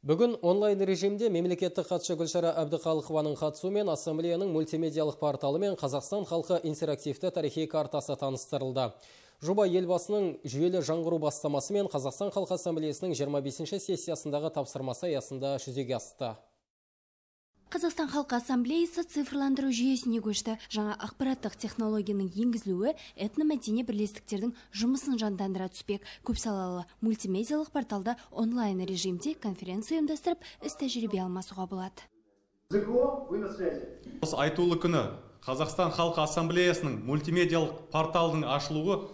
Бүгін онлайн режимде мемлекеттік хатшы Гүлшара Әбдіқалықованың қатысуымен ассамблеяның мультимедиялық порталы мен Қазақстан халқы интерактивті тарихи картасы таныстырылды. Жоба елбасының жүйелі жаңғыру бастамасы мен Қазақстан халқы ассамблеясының 25-ші сессиясындағы тапсырмасы аясында жүзеге асты. Қазақстан халқы ассамблеясы цифрландыру жүйесіне көшті. Жаңа ақпараттық технологияның енгізілуі этномәдени бірлестіктердің жұмысын жандандыра түспек. Көпсалалы мультимедиялық порталда онлайн режимде конференция ұйымдастырып, іс-тәжірибе алмасуға болады. Осы айтулы күні Қазақстан халқы ассамблеясының мультимедиялық порталының ашылуы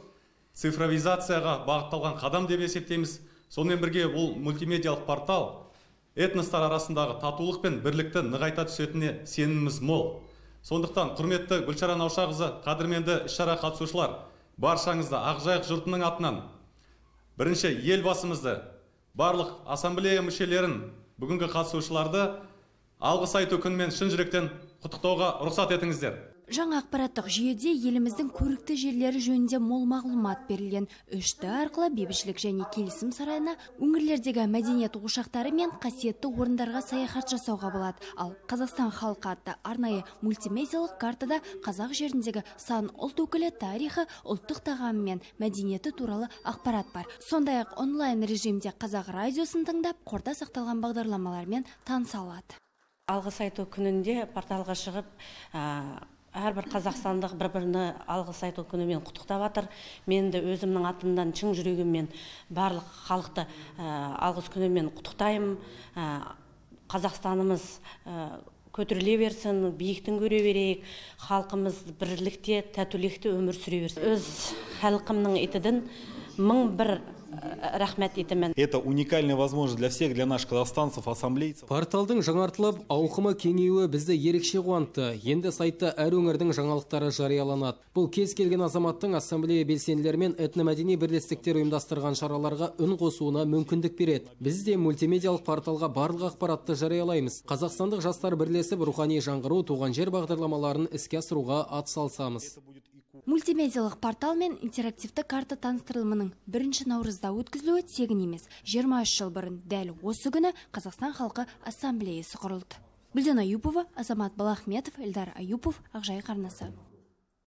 цифровизацияға бағытталған қадам деп есептейміз. Сонымен бірге бұл мультимедиялық портал этностар арасындағы татулық пен бірлікті нығайта түсетініне сеніміміз мол. Сондықтан құрметті Гүлшара Наушақызы, қадірменді іс-шара қатысушылар, баршаңызды Ақжайық жұртының атынан бірінші елбасымызды, барлық ассамблея мүшелерін, бүгінгі қатысушыларды алғыс айту күнімен шын жүректен құттықтауға рұқсат етіңіздер. Жаңа ақпараттық жүйеде еліміздің көрікті жерлері жөнінде мол мағлұмат берілген. 3Т арқылы бейбітшілік және келісім сарайына, өңірлердегі мәдениет ошақтары мен қасиетті орындарға саяхат жасауға болады. Ал Қазақстан халқы атты арнайы мультимедиялық картада қазақ жеріндегі сан ұлт өкілі тарихы, ұлттық тағамы мен мәдениеті туралы ақпарат бар. Сондай-ақ онлайн режимде қазақ радиосын тыңдап, қорда сақталған бағдарламалармен таныса алады. Алғыс айту күнінде порталға шығып, әрбір қазақстандық бір-біріне алғыс айту күнімен құттықтап жатыр. Мен де өзімнің атымдан шын жүрегіммен барлық халықты алғыс күнімен құттықтаймын. Қазақстанымыз көтеріле берсін, биіктен көре берейік, халқымыз бірлікте, татулықта өмір сүре берсін. Өз халқымның етіден 1001 рахмет етемін. Это уникальная возможность для всех, для наших казахстанцев, ассамблейцев. Порталдың жаңартылып, ауқымы кеңеюі бізді ерекше қуантты. Енді сайтта әр өңірдің жаңалықтары жарияланады. Бұл кез келген азаматтың ассамблея белсенділері мен этномәдени бірлестіктер ұйымдастырған шараларға үн қосуына мүмкіндік береді. Біз де мультимедиялық порталға барлық ақпаратты жариялаймыз. Қазақстандық жастар бірлесіп рухани жаңғыру, туған жер бағдарламаларын іске асыруға атсалысамыз. Мультимедиялық портал мен интерактивті карта таныстырылымының 1 наурызда өткізілуі тегін емес. 23 жыл бұрын дәл осы күні Қазақстан халқы ассамблеясы құрылды. Гүлден Аюпова, Азамат Балахметов, Эльдар Аюпов, Ақжайық арнасы.